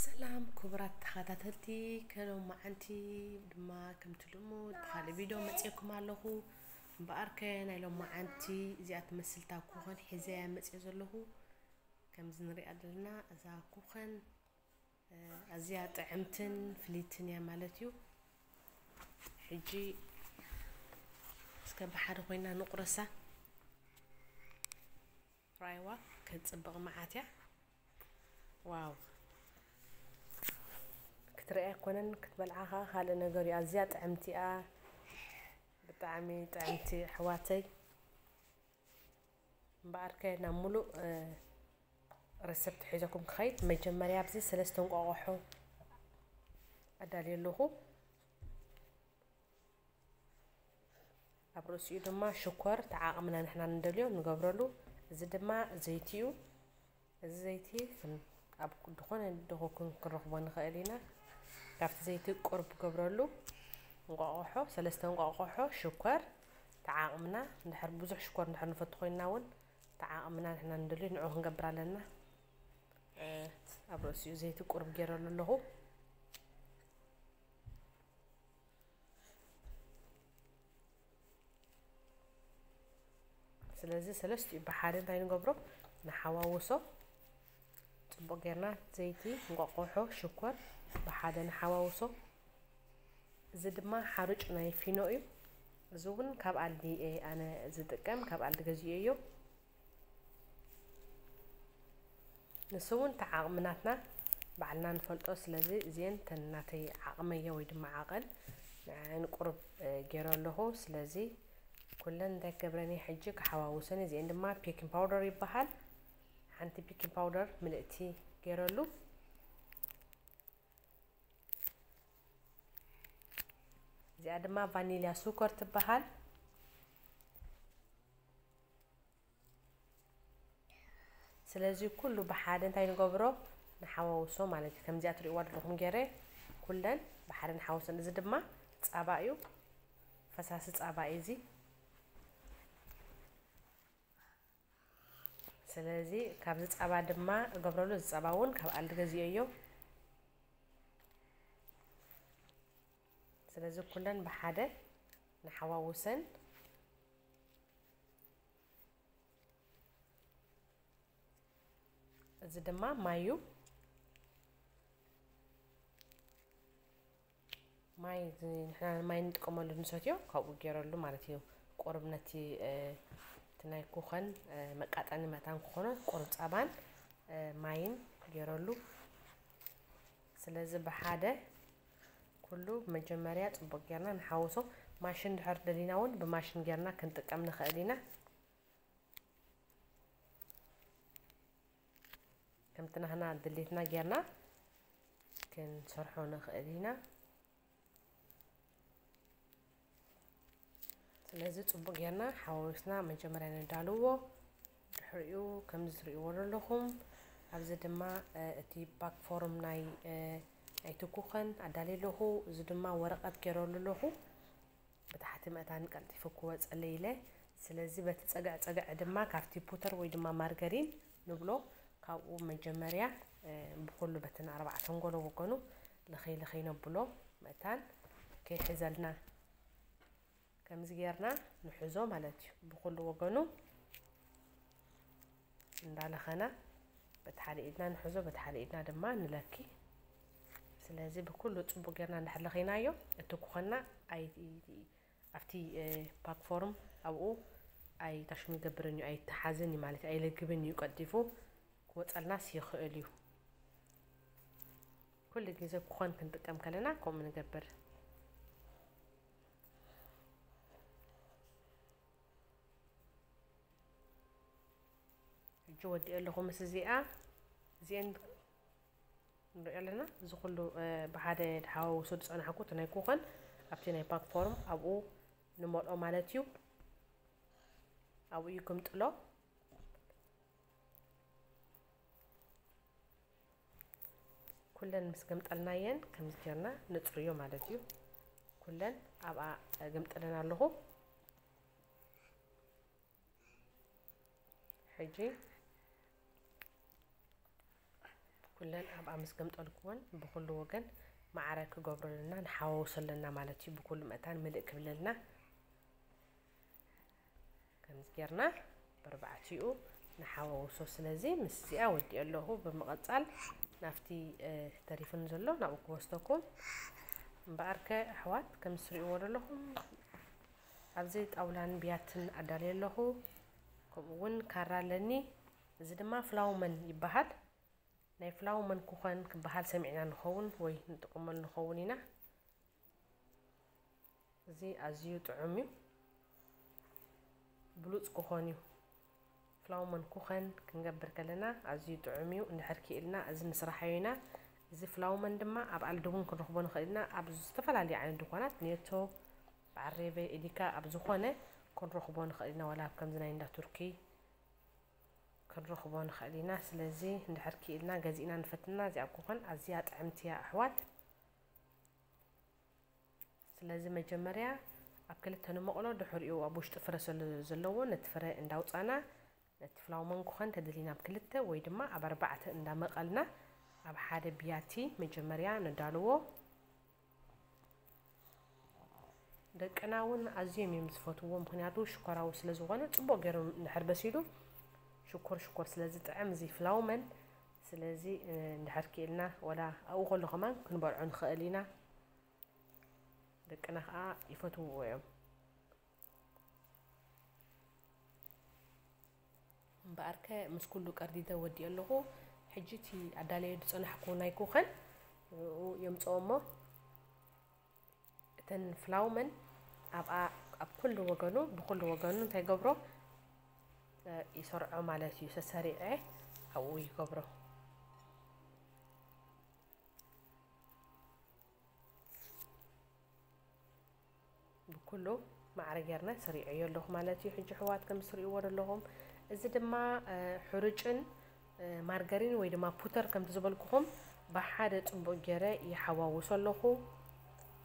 ሰላም ክቡራት ተኸታተልቲ፣ ከሎም መዓንቲ ድማ ከምቲ ልሙድ ብኻልእ ቪድዮ መፅእኩም ኣለኹ። እምበኣርከ ናይ ሎም መዓንቲ እዚኣ ትመስልታ ኩኸን ሒዘያ መፅእ ዘለኹ። ከምዚ ንሪኣ ዘለና እዛ ኩኸን ኣዝያ ጥዕምትን ፍልይትን እያ ማለት እዩ። ሕጂ እስከ ብሓደ ኮይና ንቁረሳ። ራይዋ ክትጽብቕ መዓት እያ። ዋው፣ ክትረኣ ኣይኮነን ክትበልዓ ከዓ ካልእ ነገር እዩ። ኣዝያ ጥዕምቲ እያ። ብጣዕሚ ጥዕምቲ ኣሕዋተይ። እምበኣርከ ናብ ሙሉእ ረሰፕት ሒዘኩም ክኸይድ መጀመርያ ኣብዚ ሰለስተ እንቋቑሖ ኣዳልየ ኣለኹ። ኣብ ርእሲኡ ድማ ሽኮር ተዓቕምና ንሕና ንደልዮ ንገብረሉ። እዚ ድማ ዘይቲ እዩ። እዚ ዘይቲ ከም ኣብ ዝኾነ ድኾ ክንረኽቦ ንኽእል ኢና። ካብቲ ዘይቲ ቁርብ ገብረሉ። እንቋቑሖ፣ ሰለስተ እንቋቑሖ፣ ሽኮር ተዓቕምና። እንድሕር ብዙሕ ሽኮር እንድሕር ንፈቱ ኮይንና እውን ተዓቕምና ንሕና ንደልዮ ንዑ ክንገብር ኣለና። ኣብ ርእሲኡ ዘይቲ ቁርብ ገይረሉ ኣለኹ። ስለዚ ሰለስቲኡ ብሓደ እንታይ ንገብሮ? ንሓዋውሶ። ጽቡቕ ጌርና ዘይቲ፣ እንቋቑሖ፣ ሽኮር ብሓደ ንሓዋውሶ። እዚ ድማ ሓሩጭ ናይ ፊኖ እዩ። እዚ እውን ካብ ኣልዲ እየ ኣነ ዝጥቀም፣ ካብ ኣልዲ ገዚኤዮ። ንሱ እውን ተዓቕሚ ናትና ባዕልና ንፈልጦ። ስለዚ እዚአን ተን ናተይ ዓቕመየ ወይ ድማ ዓቐን ንዐን ቁሩብ ገይረ ኣለኹ። ስለዚ ኩለን እንታይ ክገብረን እየ ሕጂ ክሓዋውሰን። እዚአን ድማ ቤኪንግ ፓውደር ይበሃል። ሓንቲ ቤኪንግ ፓውደር ምልእቲ ገይረሉ። እዚኣ ድማ ቫኒልያ ሱኮር ትበሃል። ስለዚ ኩሉ ብሓደ እንታይ ንገብሮ? ንሓዋውሶ ማለት እዩ። ከምዚኣ ትሪእዋ ዘለኹም ገይረ ኩለን ብሓደ ንሓውሰን። እዚ ድማ ጻባ እዩ። ፈሳሲ ጻባ እዩ እዚ። ስለዚ ካብዚ ጻባ ድማ እገብረሉ። እዚ ጻባ እውን ካብ ኣልዲ ገዚኦዮ። ስለዚ ኩለን ብሓደ ንሓዋውሰን። እዚ ድማ ማይ እዩ። ማይ እዚ ንሕና ማይ ንጥቀመሉ ንሰትዮ፣ ካብኡ ገይረሉ ማለት እዩ። ቁሩብ ነቲ፣ እ፣ እቲ ናይ ኩኸን፣ እ፣ መቃጠኒ መታን ክኾኖ ቁሩብ ጸባን፣ እ፣ ማይን ገይረሉ። ስለዚ ብሓደ ኩሉ መጀመርያ ጽቡቕ ጌርና ንሓውሶ። ማሽን ድሕር ደሊና እውን ብማሽን ጌርና ክንጥቀም ንኽእል ኢና። ከምቲ ናህና ድሌትና ጌርና ክንሰርሖ ንኽእል ኢና። ስለዚ ጽቡቕ ጌርና ሓዋዊስና መጀመርያ ነዳልዎ። ድሕሪኡ ከምዚ ትርእይዎ ዘለኹም ኣብዚ ድማ፣ እ፣ እቲ ፓክ ፎርም ናይ፣ እ፣ ናይቲ ኩኸን ኣዳልየ ኣለኹ። እዚ ድማ ወረቐት ጌረሉ ኣለኹ። ብታሕቲ መእታን ቀልጢፉ ክወጸለይ ኢለ። ስለዚ በቲ ጸግዕ ጸግዕ ድማ ካብቲ ቡተር ወይ ድማ ማርገሪን ንብሎ ካብኡ መጀመርያ፣ እ፣ ብኹሉ በተን ኣርባዕተን ጎሎ ወገኑ ልኸይ ልኸይ ነብሎ መእታን ከይሕዘልና። ከምዚ ጌርና ንሕዞ ማለት እዩ። ብኹሉ ወገኑ እንዳለኸና በቲ ሓደ ኢድና ንሕዞ፣ በቲ ሓደ ኢድና ድማ ንለኪ። ስለዚ ብኩሉ ጽቡቕ ጌርና እንድሕር ለኸይናዮ፣ እቲ ኩኸና ኣይ-፣ ኣብቲ፣ እ፣ ፓክ ፎርም ኣብኡ ኣይታሽሙ ይገብርን እዩ፣ ኣይተሓዝን እዩ ማለት እዩ፣ ኣይለግብን እዩ፣ ቀልጢፉ ክወጸልናስ ይኽእል እዩ። ኩሉ ግዜ ኩኸን ክንጥቀም ከለና ከምኡ ንገብር። ሕጂ ወዲኤ ኣለኹ ምስ እዚኣ፣ እዚአን ንሪኦ ኣለና። እዚ ኩሉ፣ እ፣ ብሓደ ድሓዋውሶ ዝጸናሕኩ እቲ ናይ ኩኸን ኣብቲ ናይ ፓክ ፎርም ኣብኡ ንመልኦ ማለት እዩ። ኣብኡ ይግምጥሎ። ኩለን ምስ ገምጠልናየን ከምዚ ጌርና ንጽርዮ ማለት እዩ። ኩለን ኣብኣ ገምጠለን ኣለኹ። ሕጂ ኩለን ኣብኣ ምስ ገምጠልኩወን ብኹሉ ወገን ማዕረ ክገብረልና ንሓዋውሶ ኣለና ማለት እዩ። ብኩሉ መታን ምልእ ክብለልና ከምዚ ጌርና ብርባዕቲኡ ንሓዋውሶ። ስለዚ ምስ እዚኣ ወዲኦ ኣለኹ። ብምቐጻል ናብቲ ተሪፉን ዘሎ ናብኡ ክወስደኩም። እምበኣርከ ኣሕዋት፣ ከም ትሪእዎ ዘለኹም ኣብዚ ጣውላን ብያትን ኣዳልየ ኣለኹ። ከምኡ እውን ካራ ኣለኒ። እዚ ድማ ፍላውመን ይበሃል። ናይ ፍላውመን ኩኸን ክበሃል ሰሚዕና ንኸውን ወይ ንጥቀመሉ ንኸውን ኢና። እዚ ኣዝዩ ጥዑም እዩ፣ ብሉጽ ኩኸን እዩ። ፍላውመን ኩኸን ክንገብር ከለና ኣዝዩ ጥዑም እዩ። እንድሕር ክኢልና እዚ ንስራሓዮ ኢና። እዚ ፍላውመን ድማ ኣብ ኣልዲ እውን ክንረኽቦ ንኽእል ኢና። ኣብ ዝተፈላለዩ ዓይነት ድኳናት፣ ኔቶ፣ በዓል ሬቨ፣ ኤዲካ፣ ኣብ ዝኾነ ክንረኽቦ ንኽእል ኢና። ዋላ ኣብ ከምዚ ናይ እንዳ ቱርኪ ክንረኽቦ ንኽእል ኢና። ስለዚ እንድሕር ክኢልና ገዚእና ንፈትና። እዚኣ ኩኸን ኣዝያ ጥዕምቲ እያ ኣሕዋት። ስለዚ መጀመርያ ኣብ ክልተ ንመቕሎ፣ ድሕሪኡ ኣብ ውሽጢ ፍረ ስለ ዘለዎ ነቲ ፍረ እንዳውፃና ነቲ ፍላውመን ኩኸን ተደሊና ኣብ ክልተ ወይ ድማ ኣብ ኣርባዕተ እንዳመቐልና ኣብ ሓደ ብያቲ መጀመርያ ነዳልዎ። ደቅና እውን ኣዝዮም እዮም ዝፈትውዎ፣ ምኽንያቱ ሽኮራዊ ስለ ዝኾነ፣ ጽቡቕ ገይሩ እንድሕር በሲሉ ሽኮር ሽኮር ስለ ዝጥዕም እዚ ፍላውመን። ስለዚ እንድሕር ክኢልና ወላ ኣብኡ ከሎ ከማን ክንበልዖ ንኽእል ኢና። ደቅና ከዓ ይፈትውዎ እዮም። እምበኣርከ ምስ ኩሉ ቀርዲደ ወዲኦ ኣለኹ። ሕጂ እቲ ኣዳለዮ ዝጸናሕኩ ናይ ኩኸን ንኡ የምጽኦ እሞ እተን ፍላውመን ኣብኣ ኣብ ኩሉ ወገኑ ብኩሉ ወገኑ እንታይ ገብሮ፣ እ፣ ይሰርዖ ማለት እዩ። ሰሰሪዐ ኣብኡ ይገብሮ። ብኩሉ ማዕረ ጌርና ሰሪዐዮ ኣለኹ ማለት እዩ። ሕጂ ኣሕዋት ከም ትሪእዎ ዘለኹም እዚ ድማ፣ እ፣ ሕሩጭን፣ እ፣ ማርገሪን ወይ ድማ ፑተር ከምቲ ዝበልኩኹም ብሓደ ጽቡቕ ገይረ ይሓዋውሶ ኣለኹ።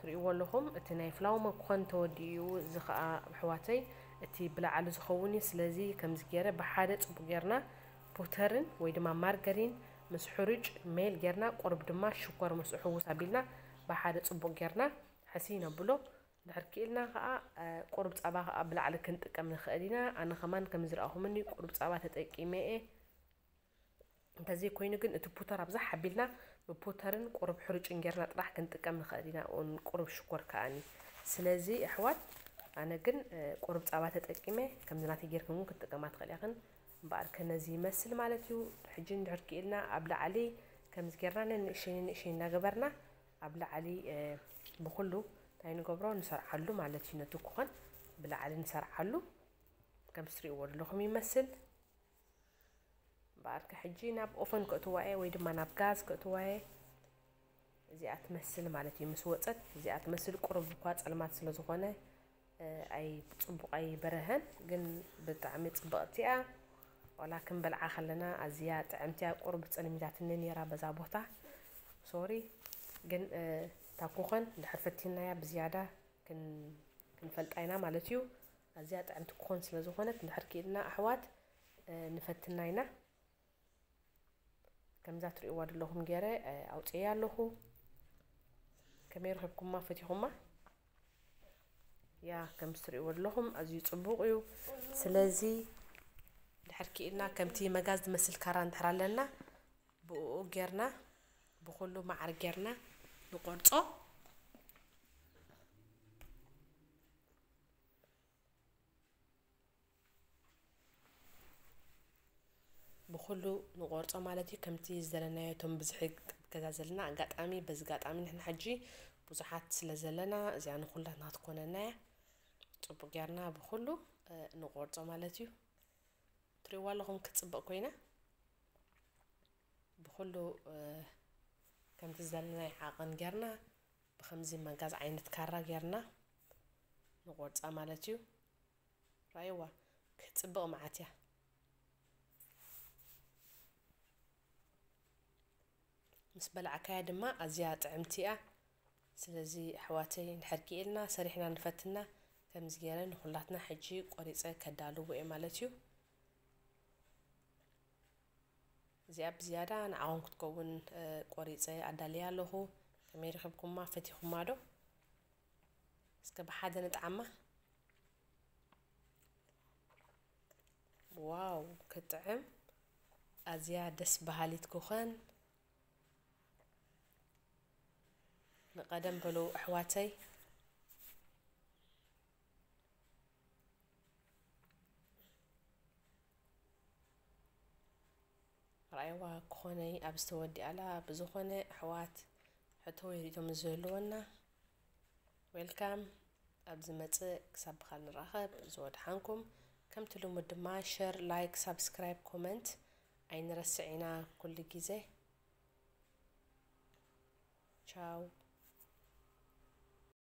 ትሪእዎ ኣለኹም እቲ ናይ ፍላውመን ኩኸን ተወዲኡ እዩ። እዚ ኸኣ ኣሕዋተይ እቲ ብላዕሊ ዝኸውን እዩ። ስለዚ ከምዚ ገይረ ብሓደ ጽቡቕ ጌርና ፑተርን ወይ ድማ ማርገሪን ምስ ሕሩጭ ሜል ጌርና ቁሩብ ድማ ሽኮር ምስኡ ሕውስ ኣቢልና ብሓደ ጽቡቕ ጌርና ሕስይ ነብሎ። እንድሕር ክኢልና ኸዓ፣ እ፣ ቁሩብ ጸባ ኸዓ ብላዕሊ ክንጥቀም ንኽእል ኢና። ኣነ ኸማን ከም ዝረኣኹምኒ ቁሩብ ጸባ ተጠቂመ እየ። እንተዘይኮይኑ ግን እቲ ፑተር ኣብዛ ሓቢልና ብፑተርን ቁሩብ ሕሩጭን ጌርና ጥራሕ ክንጥቀም ንኽእል ኢና። ኦን ቁሩብ ሽኮር ከኣኒ። ስለዚ ኣሕዋት ኣነ ግን፣ እ፣ ቁሩብ ጸባ ተጠቂመ፣ ከምዚ ናተይ ጌርክን እውን ክትጥቀማ ትኽእል ኢኽን። እምበኣር ከ ነዚ ይመስል ማለት እዩ። ሕጂ እንድሕር ክኢልና ኣብ ላዕሊ ከምዚ ጌርና ነንእሸይ ነንእሸይ እንዳገበርና ኣብ ላዕሊ፣ እ፣ ብኹሉ እንታይ ንገብሮ ንሰርዓሉ ማለት እዩ። ነቲ ኩኸን ብላዕሊ ንሰርዓሉ። ከም ትሪእዎ ዘለኹም ይመስል። እምበኣርከ ሕጂ ናብ ኦፈን ከእትዋ እየ ወይ ድማ ናብ ጋዝ ከእትዋ እየ። እዚኣ ትመስል ማለት እዩ። ምስ ወጸት እዚኣ ትመስል። ቁሩብ እኳ ጸልማት ስለ ዝኾነ፣ እ፣ ኣይ ጽቡቕ ኣይበረሀን፣ ግን ብጣዕሚ ጽብቕቲ እያ። ዋላ ክንበልዓ ከለና ኣዝያ ጥዕምቲ እያ። ቁሩብ ጸልሚታትኒ ነይራ በዛ ቦታ። ሶሪ። ግን፣ እ፣ እታ ኩኸን እንድሕር ፈቲናያ ብዝያዳ ክን-፣ ክንፈልጣ ኢና ማለት እዩ። ኣዝያ ጥዕምቲ ኩኸን ስለ ዝኾነት እንድሕር ክኢልና ኣሕዋት፣ እ፣ ንፈትና ኢና። ከምዛ ትሪእዋ ዘለኹም ገይረ፣ እ፣ ኣውፅኤያ ኣለኹ። ከመይ ረኺብኩማ? ፈቲኹማ? ያ፣ ከም ትሪእዎ ዘለኹም ኣዝዩ ጽቡቕ እዩ። ስለዚ ድሕር ክኢልና ከምቲ መጋዝ ዝመስል ካራ እንድሕር ኣለና ብኡ ጌርና ብኹሉ ማዕረ ጌርና ንቆርጾ። ብኹሉ ንቆርጾ ማለት እዩ። ከምቲ ዝደለናዮ እቶም ብዝሒ ገዛ ዘለና ኣጋጣሚ፣ በዚ ኣጋጣሚ ንሕና ሕጂ ብዙሓት ስለ ዘለና እዚኣ ንኹላትና ክትኮነና እያ። ጽቡቕ ጌርና ብኹሉ፣ እ፣ ንቆርጾ ማለት እዩ። ትሪእዋ ኣለኹም ክጽብቕ ኮይና ብኹሉ፣ እ፣ ከምቲ ዝደለናዮ ዓቐን ጌርና ብኸምዚ መጋዝ ዓይነት ካራ ጌርና ንቆርጻ ማለት እዩ። ራእይዋ ክትጽብቕ መዓት እያ። ምስ በላዕካያ ድማ ኣዝያ ጥዕምቲ እያ። ስለዚ ኣሕዋተይ እንድሕር ክኢልና ሰሪሕና ንፈትና ከምዚ ገይረ ንኹላትና ሕጂ ቆሪጸ ከዳልዎ እየ ማለት እዩ። እዚኣ ብዝያዳ ንዓኹም ክትከውን ቆሪፀ ኣዳልያ ኣለኹ። ከመይ ረኺብኩማ? ፈቲኹማ ዶ? እስከ ብሓደ ንጥዓማ። ዋው ክጥዕም! ኣዝያ ደስ በሃሊት ኩኸን። ንቐደም በሉ ኣሕዋተይ። ርኣይዋ ክኾነይ ኣብ ዝተወዲኣላ። ብዝኾነ ኣሕዋት ሕቶ ወይ ርእቶ ምስ ዝህልወና፣ ዌልካም። ኣብ ዝመጽእ ክሳብ ብኻል ንራኸብ። ዝወድሓንኩም። ከምቲ ልሙድ ድማ ሸር፣ ላይክ፣ ሳብስክራይብ፣ ኮመንት ኣይንረስዕ ኢና ኩሉ ግዜ። ቻው።